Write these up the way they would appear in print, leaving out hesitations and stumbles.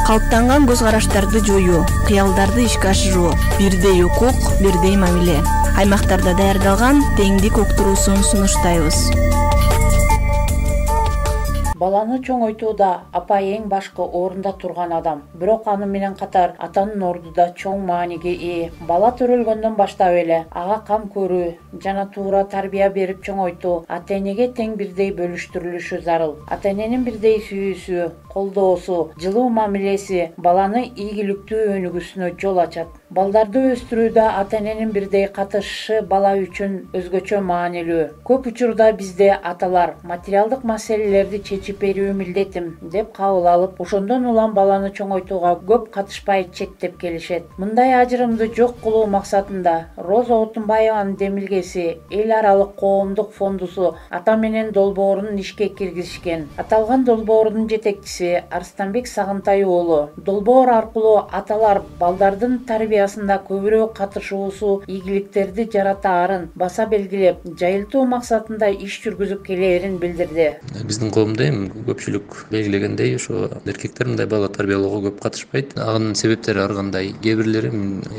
калыптанган көз караштарды жоюу, кыялдарды ишке ашыруу, бирдей укук, бирдей мамиле. Аймактарда даярдалган теңдик уктуруусун сунуштайбыз. Баланы чоңойтууда апа эң башкы орунда турган адам. Бирок аны менен катар атанын орду да чоң мааниге ээ. Бала төрөлгөндөн баштап эле ага кам көрүү жана туура тарбия берип чоңойтуу ата-энеге тең бирдей бөлүштүрүлүшү зарыл. Ата-эненин бирдей сүйүүсү, колдоосу, жылуу мамилеси баланы ийгиликтүү өнүгүүсүнө жол ачат. Балдарды өстүрүүдө ата-эненин бирдей катышышы бала үчүн өзгөчө маанилүү. Көп учурда бизде аталар материалдык маселелерди чечип берүү милдетим деп кабыл алып, ошондон улам баланы чоңойтууга көп катышпай четтеп келишет. Мындай ажырымды жок кылуу максатында Роза Отунбаеванын демилгеси эл аралык коомдук фондусу ата менен долбоорун ишке киргизишкен. Аталган долбоордун жетекчиси Арстанбек Сагынтай уулу. Долбоор аркылуу аталар балдардын тарбиясында көбүрөөк катышуусу ийгиликтерди жаратаарын баса белгилеп, жайылтуу максатында иш жүргүзүп келээрин билдирди. Биздин коомдо эми көпчүлүк белгилегендей ошо эркектер мындай бала тарбиялоого көп катышпайт. Анын себептери ар кандай. Кээ бирлери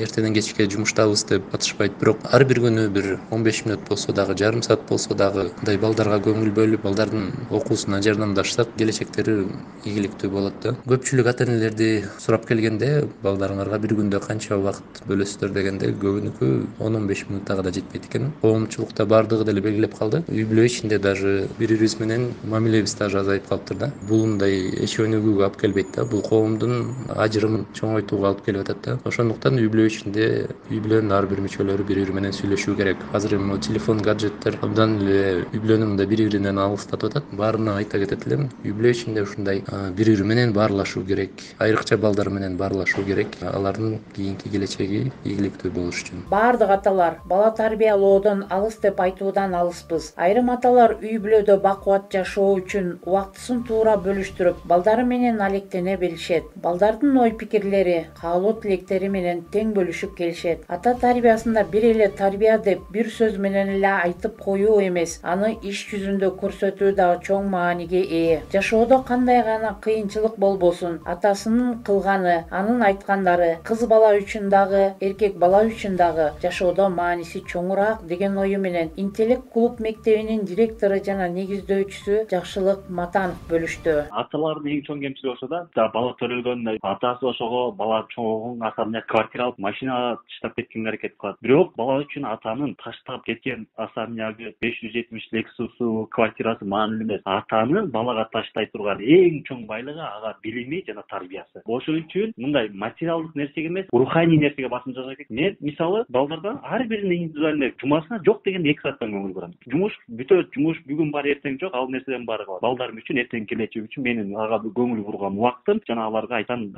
эртеден кечке жумуштабыз деп катышпайт. Бирок ар бир күнү бир 15 мүнөт болсо дагы, жарым саат болсо дагы мындай балдарга көңүл бөлүп, балдардын окуусуна жардамдашсак, келечектери ийгиликтүү болот да. Көпчүлүк ата-энелерди сурап келгенде, балдарыңарга бир күндө канча убакыт бөлөсүздөр дегенде, көбүнүкү 10-15 мүнөттага да жетпейт экен. Коомчулукта бардыгы деле белгилеп калды. Үй бүлө ичинде даже бири-бирибиз менен мамилебиз даже азайып калыптыр да. Бул мындай эч өнүгүүгө алып келбейт да. Бул коомдун ажырымын чоңойтууга алып келип атат да. Ошондуктан үй бүлө ичинде үй бүлөнүн ар бир мүчөлөрү бири-бири менен сүйлөшүү керек. Азыр эми телефон, гаджеттер абдан эле үй бүлөнү мындай бири-биринен алыстатып атат. Баарына айта кетет элем, үй бүлө ичинде ушундай бири-бири менен баарлашуу керек. Айрыкча балдар менен баарлашуу керек. Алардын кийинки келечеги ийгиликтүү болуш үчүн. Бардык аталар бала тарбиялоодон алыс деп айтуудан алыспыз. Айрым аталар үй бүлөдө бакубат жашоо үчүн убактысын туура бөлүштүрүп, балдары менен алектене билишет. Балдардын ой-пикирлери, каалоо тилектери менен тең бөлүшүп келишет. Ата тарбиясында бир эле тарбия деп бир сөз менен эле айтып коюу эмес, аны иш жүзүндө көрсөтүү дагы чоң мааниге ээ. Жашоодо кандай гана кыйынчылык болбосун, атасынын кылганы, анын айткандары кыз бала үчүн дагы, эркек бала үчүн дагы жашоодо мааниси чоңураак деген ою менен Интеллект клуб мектебинин директору жана негиздөөчүсү Жакшылык Матанов бөлүштү. Аталардын эң чоң кемчилиги ошо да, бала төрөлгөндө атасы ошого бала чоңойгон асабына квартира алып, машина таштап кеткенге аракет кылат. Бирок бала үчүн атанын таштап кеткен особнягы 570 Lexus'у, квартирасы маанилүү эмес. Атанын балага таштай турган эң чоң байлыгы ага билими жана тарбиясы. Ошол үчүн мындай материалдык нерсеге эмес, руханий нерсеге басым жасаш керек. Мен мисалы балдардан ар биринин индивидуальный жумасына жок дегенде 2 сааттан көңүл бурам. Жумуш бүтөт, жумуш бүгүн бар, эртең жок, ал нерседен баары калат. Балдарым үчүн, эртең келечеги үчүн менин ага көңүл бурган убактым жана аларга айткан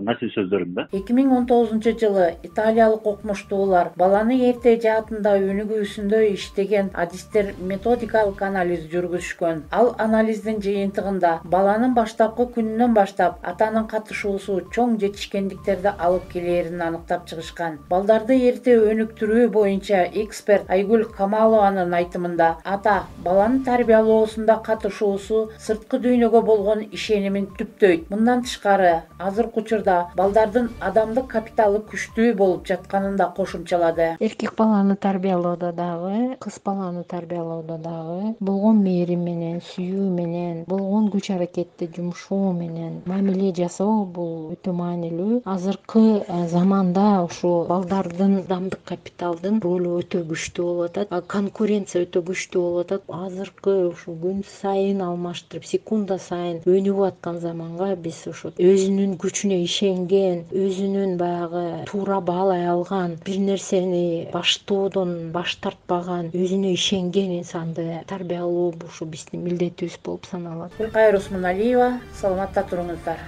насил сөздөрүм да. 2019-жылы италиялык окумуштуулар баланы эрте жаатында өнүгүүсүндө иштеген адистер методикалык анализ жүргүзүшкөн. Ал анализдин жыйынтыгында баланын баштапкы күнүнөн баштап атанын катышуусу чоң жетишкендиктерди алып келээрин аныктап чыгышкан. Балдарды эрте өнүктүрүү боюнча эксперт Айгүл Камалованын айтымында, ата баланын тарбиялоосунда катышуусу сырткы дүйнөгө болгон ишенимин түптөйт. Мындан тышкары, азыркы учурда балдардын адамдык капиталы күчтүү болуп жатканын да кошумчалады. Эркек баланы тарбиялоодо дагы, кыз баланы тарбиялоодо дагы болгон мээрим менен, сүйүү менен, болгон күч аракетти жумшоо менен мамиле жасоо бул өтө маанилүү. Азыркы заманда ушу балдардын адамдык капиталдын ролу өтө күчтүү болуп атат. Конкуренция өтө күчтүү болуп атат. Азыркы ушу күн сайын алмаштырып, секунда сайын өнүгүп аткан заманга биз ошо өзүнүн күчүнө ишенген, өзүнүн баягы туура баалай алган, бир нерсени баштоодон баш тартпаган, өзүнө ишенген инсанды тарбиялоо ушу биздин милдетибиз болуп саналат. Гүлкайыр Усмоналиева, саламатта туруңуздар.